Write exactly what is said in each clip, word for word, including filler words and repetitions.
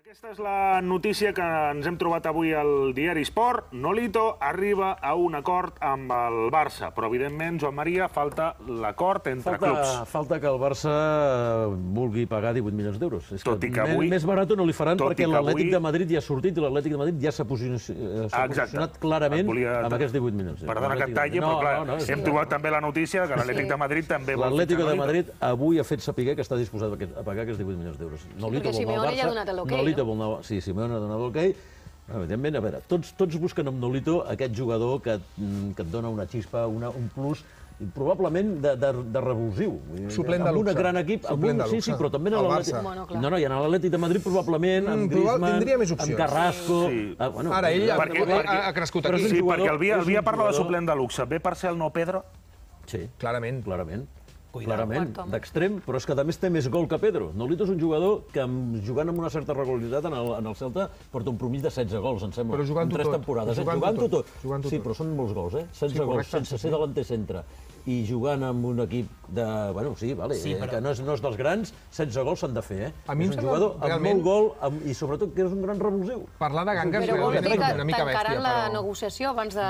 Aquesta és la notícia que ens hem trobat avui al diari Sport. Nolito arriba a un acord amb el Barça, però evidentment, Joan Maria, falta l'acord entre falta, clubs. Falta que el Barça vulgui pagar divuit milions d'euros. Tot i que avui... Més barat no li faran perquè l'Atlètic avui... de Madrid ja ha sortit i l'Atlètic de Madrid ja s'ha posicionat clarament volia... amb aquests divuit milions. Perdona que et talli, no, però clar, no, no, hem sí. trobat també la notícia que l'Atlètic sí. de Madrid també vol... L'Atlètic de Madrid avui ha fet saber que està disposat a pagar aquests divuit milions d'euros. Nolito vol anar al Barça, ja ha donat l'okei, no? Sí, Simeone ha donat l'okei. Evidentment, a veure, tots, tots busquen amb Nolito aquest jugador que, que et dona una xispa, una, un plus, probablement de, de, de revulsiu. Suplent de luxe. Amb un gran equip, amb un, sí, sí, però també en l'Atlètic. No, no, i en l'Atlètic de Madrid probablement, amb Griezmann, amb Carrasco... Ara, ell ha crescut aquí. Sí, perquè el Via parla de suplent de luxe. Ve per ser el nou Pedro? Sí, clarament. Clarament. Clarament, d'extrem, però és que a més té més gol que Pedro. Nolito és un jugador que, jugant amb una certa regularitat en el, en el Celta, porta un promís de setze gols, em sembla. Però jugant-ho tot. Temporades, jugant-ho jugant tot. tot. Sí, però són molts gols, eh? setze sí, gols, sense ser delanter centre. I jugant amb un equip de... Bueno, sí, vale, sí, però... que no és, no és dels grans, setze gols s'han de fer, eh? A mi és un jugador amb realment... molt gol amb, i sobretot que és un gran revulsiu. Parlar de gangues però vols dir que una mica bèstia, tancaran la negociació abans de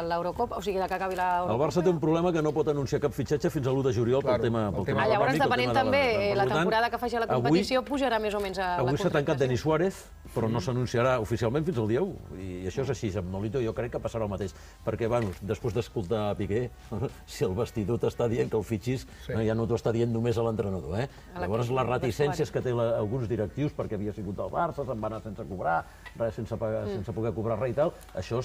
l'Eurocopa, o sigui, de que acabi l'Eurocopa? El Barça té un problema que no pot anunciar cap fitxatge fins a l'u de juliol pel tema econòmic. Ah, llavors, depenent també, la temporada que faci la competició pujarà més o menys a la contractació. Avui s'ha tancat Denis Suárez, però no s'anunciarà oficialment fins al dia u. I això és així, amb Nolito jo crec que passarà el mateix. Perquè, bueno, després d'escoltar Piqué, si el vestidor t'està dient que el fitxis, ja no t'ho està dient només a l'entrenador. Llavors, les reticències que té alguns directius, perquè havia sigut al Barça, se'n va anar sense cobrar, sense poder cobrar res i tal, això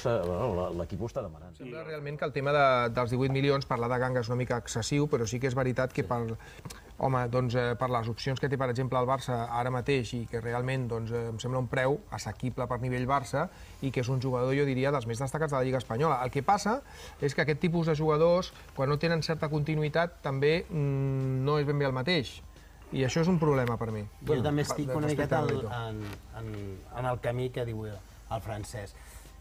l'equip ho està demanant. Sembla realment que el tema dels divuit milions, parlar de ganga és una mica excessiu, però sí que és veritat que per... Home, doncs, per les opcions que té, per exemple, el Barça ara mateix i que realment doncs, em sembla un preu assequible per nivell Barça i que és un jugador, jo diria, dels més destacats de la Lliga Espanyola. El que passa és que aquest tipus de jugadors, quan no tenen certa continuïtat, també mmm, no és ben bé el mateix. I això és un problema per mi. Jo també estic una miqueta en, en, en el camí que diu el francès.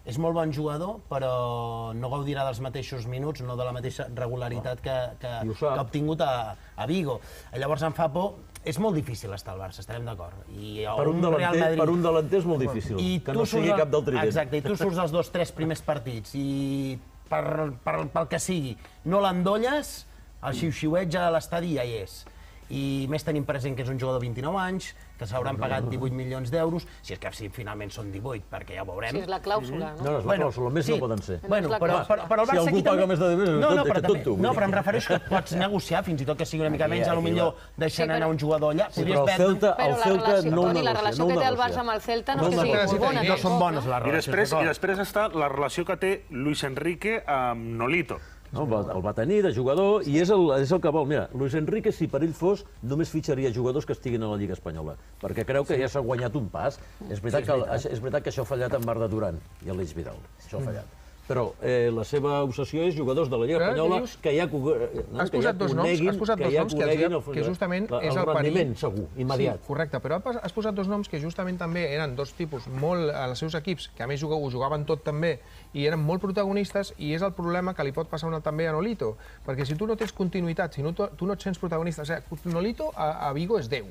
És molt bon jugador, però no gaudirà dels mateixos minuts, no de la mateixa regularitat que, que, que ha obtingut a, a Vigo. Llavors em fa por, és molt difícil estar al Barça, estarem d'acord. Per un delanter, Madrid... per un delanter és molt difícil, I que no sigui cap del trident. Exacte, i tu surts els dos, tres primers partits i per, per, pel que sigui no l'endolles, el xiu-xiuet ja a l'estadi ja hi és. I més tenim present que és un jugador de vint-i-nou anys, que s'hauran pagat divuit milions d'euros, si és que finalment són divuit, perquè ja ho veurem. Si és la clàusula, no? No, és la clàusula, més no poden ser. Bueno, però el Barça aquí també... Si algú paga més de divuit, és tonto. No, però em refereixo que pots negociar, fins i tot que sigui una mica menys, potser deixant anar un jugador allà. Però el Celta no ho negocia. La relació que té el Barça amb el Celta no és que sigui molt bona. No són bones les relacions. I després està la relació que té Luis Enrique amb Nolito. No, el va tenir de jugador i és el, és el que vol. Mira, Luis Enrique, si per ell fos, només fitxaria jugadors que estiguin a la Lliga Espanyola, perquè creu que ja s'ha guanyat un pas. És veritat, que, és veritat que això ha fallat amb Arda Duran i l'Eix Vidal. Això ha fallat. Però eh, la seva obsessió és jugadors de la Lliga Espanyola que ja coneguin, has posat dos noms, has posat dos noms que, que justament és el perill. rendiment segur, immediat. Sí, correcte, però has posat dos noms que justament també eren dos tipus molt als seus equips, que a més ho jugaven tot també, i eren molt protagonistes, i és el problema que li pot passar també a Nolito, perquè si tu no tens continuïtat, si no, tu no et sents protagonista, o sigui, Nolito a, a Vigo és Déu.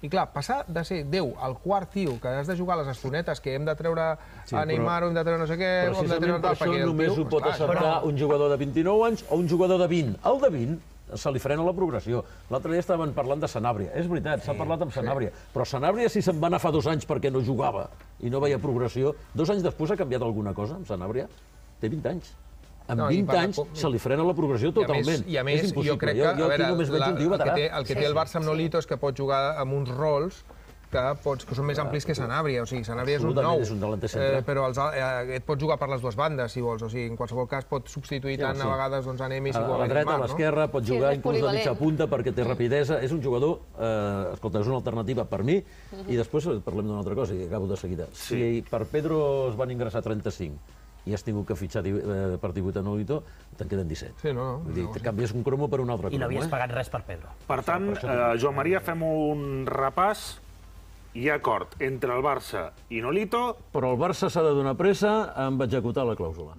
I clar, passar de ser Déu al quart tio, que has de jugar a les estonetes, que hem de treure a Neymar o hem de treure no sé què... Precisament per això només ho pot acceptar un jugador de vint-i-nou anys o un jugador de vint. El de vint se li frena la progressió. L'altre dia estaven parlant de Sanabria. És veritat, s'ha parlat amb Sanabria. Però Sanabria, si se'n va anar fa dos anys perquè no jugava i no veia progressió, dos anys després ha canviat alguna cosa amb Sanabria? Té vint anys. Amb vint anys se li frena la progressió totalment. I a més, jo crec que el que té el Barça amb Nolito és que pot jugar amb uns rols que són més amplis que Sanabria. O sigui, Sanabria és un nou, però et pot jugar per les dues bandes, si vols. O sigui, en qualsevol cas pot substituir tant a vegades a Nemi si vol. A la dreta, a l'esquerra, pot jugar inclús de mitja punta perquè té rapidesa. És un jugador, escolta, és una alternativa per mi. I després parlem d'una altra cosa, i acabo de seguida. Si per Pedro es van ingressar trenta-cinc i has tingut que fitxar per divuit a Nolito, te'n queden disset. Sí, no, no. Vull dir, canvies un cromo per un altre cromo. I no havies pagat res per Pedro. Per tant, Joan Maria, fem un repàs. Hi ha acord entre el Barça i Nolito. Però el Barça s'ha de donar pressa amb executar la clàusula.